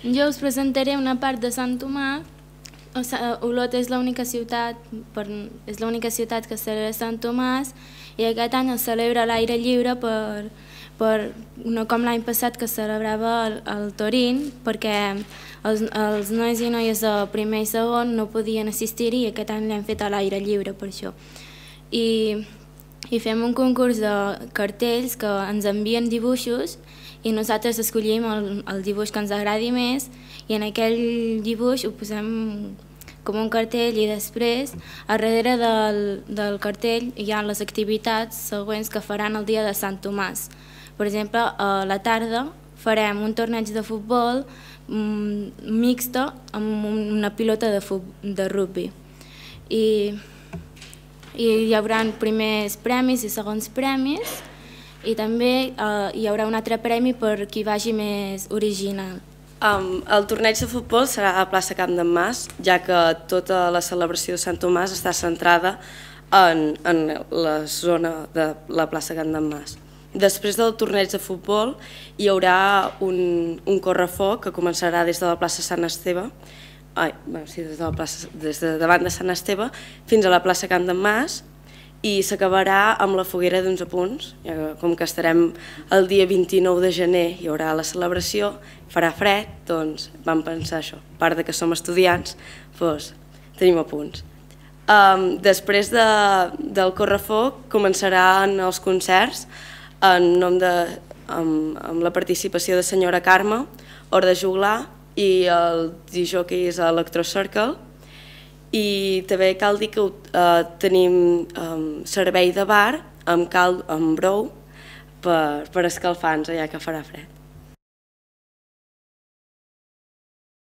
Jo us presentaré una part de Sant Tomàs. Olot és l'única ciutat que celebra Sant Tomàs i aquest any es celebra a l'aire lliure no com l'any passat que celebrava el Torín, perquè els nois i noies de primer i segon no podien assistir-hi i aquest any l'hem fet a l'aire lliure per això. I fem un concurs de cartells que ens envien dibuixos i nosaltres escollim el dibuix que ens agradi més i en aquell dibuix ho posem com un cartell i després a darrere del cartell hi ha les activitats següents que faran el dia de Sant Tomàs. Per exemple, a la tarda farem un torneig de futbol mixta amb una pilota de rugby. I hi haurà primers premis i segons premis i també hi haurà un altre premi per qui vagi més original. El torneig de futbol serà a la plaça Camp d'en Mas, ja que tota la celebració de Sant Tomàs està centrada en la zona de la plaça Camp d'en Mas. Després del torneig de futbol hi haurà un correfoc que començarà des de la plaça Sant Esteve, des de davant de Sant Esteve fins a la plaça Camp d'en Mas i s'acabarà amb la foguera d'11 punts. Com que estarem el dia 29 de gener hi haurà la celebració, farà fred, doncs vam pensar això. A part que som estudiants, doncs tenim apunts. Després del correfoc començaran els concerts amb la participació de Senyora Carme, Hora de Juglar i el discjòquei és Electro Circle. I també cal dir que tenim servei de bar amb brou per escalfar-nos ja que farà fred.